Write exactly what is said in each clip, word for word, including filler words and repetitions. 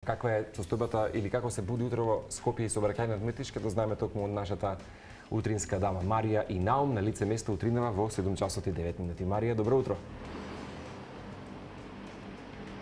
Каква е состојбата или како се буди утре во Скопје и сообраќајниот метиш, ќе дознаеме токму од нашата утринска дама Марија и Наум на лице место утринава во седум часот и девет минути. Марија, добро утро.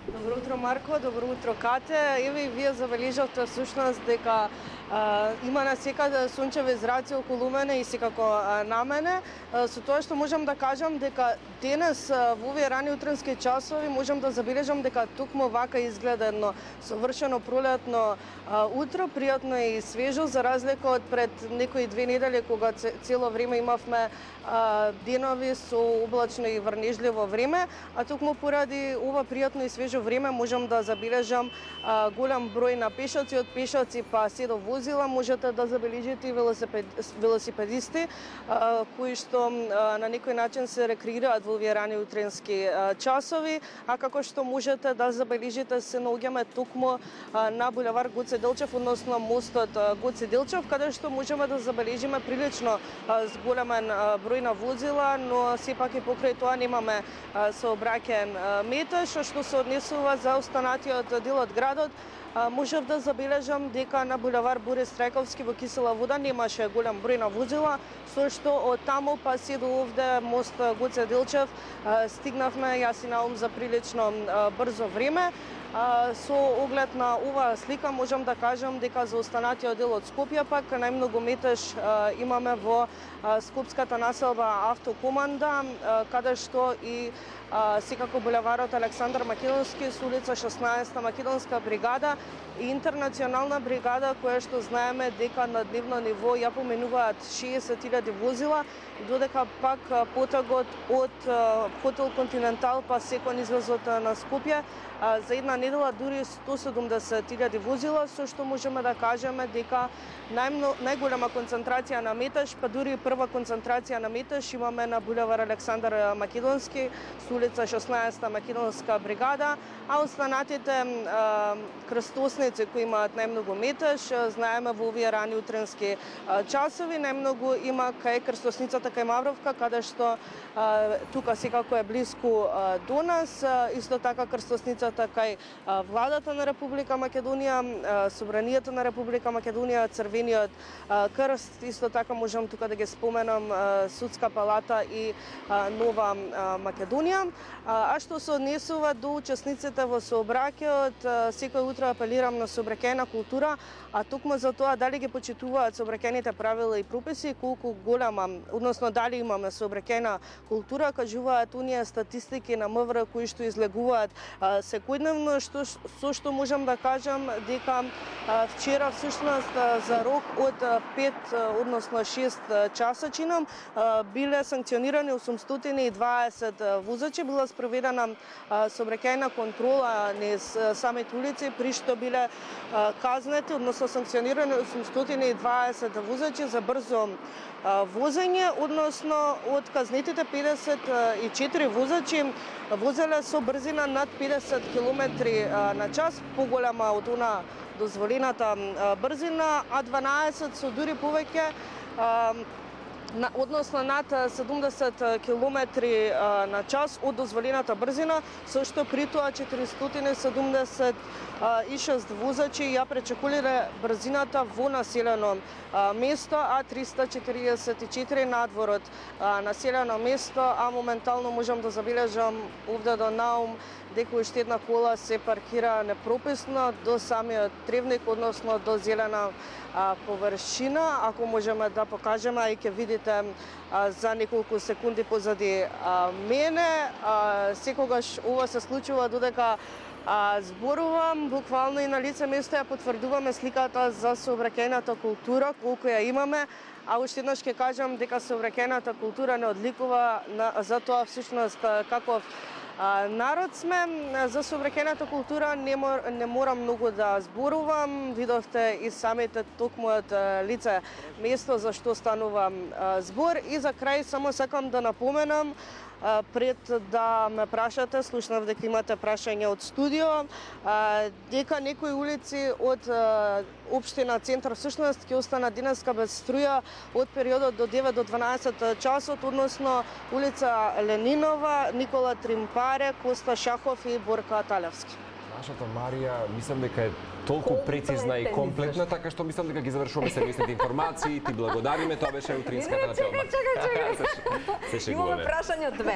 Добро утро, Марко, добро утро, Кате. Еве и вие забележавте всушност дека а, има на секаде сончеви зраци околу мене и секако а, на мене. А, со тоа што можам да кажам дека денес а, во овие рани утрински часови можам да забележам дека токму вака изгледа едно совршено пролетно а, утро, пријатно и свежо, за разлика од пред некои две недели кога цело време имавме а, денови со облачно и врнежливо време, а токму поради ова пријатно и свежо време можам да забележам а, голем број на пешаци, од пешаци па се до возила. Можете да забележите и велосипед, велосипедисти а, кои што а, на некој начин се рекреираат во овие рани утрински а, часови, а како што можете да забележите се наоѓаме токму а, на булевар Гоце Делчев, односно мостот а, Гоце Делчев, каде што можеме да забележиме прилично а, зголемен а, број на возила, но сепак и покрај тоа немаме а, сообраќаен метеж, што се однесува за останатиот дел од градот. Можев да забележам дека на булевар Борис Трајковски во Кисела вода немаше голем број на возила, со што од таму па се до овде мост Гоце Делчев стигнавме јас и Наум за прилично брзо време. Со оглед на оваа слика можам да кажам дека за останатиот дел од Скопје пак најмногу метеж имаме во скопската населба Автокоманда, каде што и секако булеварот Александар Македонски со улица шеснаесета Македонска бригада и интернационална бригада, која што знаеме дека на дневно ниво ја поменуваат шеесет илјади возила, додека пак потегот од хотел Континентал па се кон излезот на Скопје за една недела дури сто седумдесет илјади возила, со што можеме да кажеме дека најмно, најголема концентрација на метеж, па дури прва концентрација на метеж имаме на булевар Александар Македонски со улица шеснаесета Македонска бригада, а останатите а, крстосници кои имаат најмногу метеж, знаеме во овие рани утрински а, часови, најмногу има кај крстосницата кај Мавровка, каде што а, тука секако е блиску а, до нас, а, исто така крстосницата кај а, владата на Република Македонија, а, Собранието на Република Македонија, Црвениот а, крст, исто така можам тука да ги споменам а, Судска палата и а, Нова а, Македонија. А, а што се однесува до учесниците во сообраќајот, секој утро апелирам на сообраќајна култура, а токму за тоа дали ги почитуваат сообраќајните правила и прописи, колку голема, односно дали имаме сообраќајна култура, кажуваат оние статистики на МВР кои што излегуваат а, секојдневно, што со што можам да кажам дека а, вчера всушност а, за рок од пет, односно шест часа чином а, биле санкционирани осумстотини и дваесет возачи, била спроведена сообраќајна контрола низ самите улици, при што биле а, казнети, односно санкционирани осумстотини и дваесет возачи за брзо а, возење, односно од казнетите педесет и четири возачи возеле со брзина над педесет километри на час, поголема од она дозволената брзина, а дванаесет со дури повеќе, На, односно над седумдесет километри на час од дозволената брзина, со што при тоа четиристотини седумдесет и шест возачи ја пречекулиле брзината во населено место, а триста четиридесет и четири надвор од населено место, а моментално можам да забележам овде до Наум дека уште една кола се паркира непрописно до самиот тревник, односно до зелена а, површина. Ако можеме да покажеме, и ќе видите а, за неколку секунди позади а, мене, а, секогаш ова се случува додека а, зборувам, буквално и на лице место ја потврдуваме сликата за сообраќајната култура, колку ја имаме, а уште еднаш ќе кажам дека сообраќајната култура не одликува на, за тоа всушност каков А, народ сме. За сообраќајната култура не, мор, не морам многу да зборувам, видовте и самите токму од лице место за што станува а, збор. И за крај само сакам да напоменам, а, пред да ме прашате, слушнав дека имате прашање од студио, а, дека некои улици од а, општина Центар всушност ќе остана денеска без струја од периодот до девет до дванаесет часот, односно улица Ленинова, Никола Тримпаре, Коста Шахов и Борка Талевски. Нашата Марија, мислам дека е толку прецизна и комплетна, така што мислам дека ги завршуваме семејните информации. Ти благодариме, тоа беше утринската на Телма. Чекај, чекај, чекај. Имаме прашање две.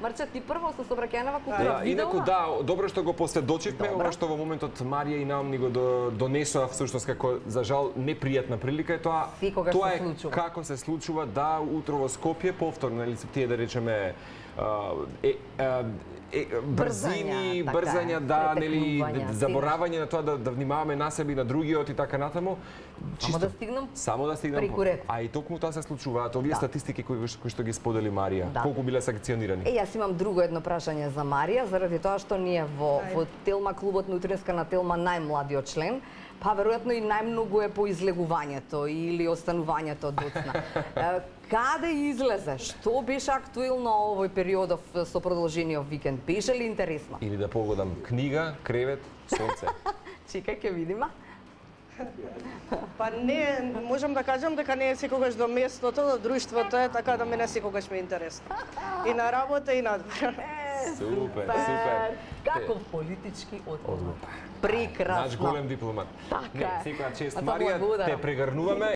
Марче, ти прво со собраќајнава култура видела? Инаку да, добро што го посведочивме, ова што во моментот Марија и Наум ни го донесоа всушност како за жал непријатна прилика е тоа. Тоа е како се случува да утро во Скопје повторно, нели тие да речеме е, е, брзини, така брзања, е, да, нели, претекнување, заборавање на тоа да, да внимаваме на себе и на другиот и така натаму. Само да стигнам? Само да стигнам. преку ред. А и токму тоа се случуваат овие Да. статистики кои, кои што ги сподели Марија. Да. Колку биле санкционирани? Е, јас имам друго едно прашање за Марија, заради тоа што ние во, во Телма, клубот на утринска на Телма, најмладиот член, па веројатно и најмногу е по излегувањето или останувањето доцна. Е, Каде излезе? Што беше актуелно овој периодов со продолжениот викенд? Беше ли интересно? Или да погодам книга, кревет, сонце. Чекај, ќе видиме. Па не, можам да кажам дека не е секогаш до местото, до друштвото е, така да мене секогаш ми е интересно. И на работа и надвор. Супер, супер. Каков политички одговор. Наш Прекрасно. голем дипломат. Така Не, е. секоја чест А тоа Марија, благодарам. те прегрнуваме.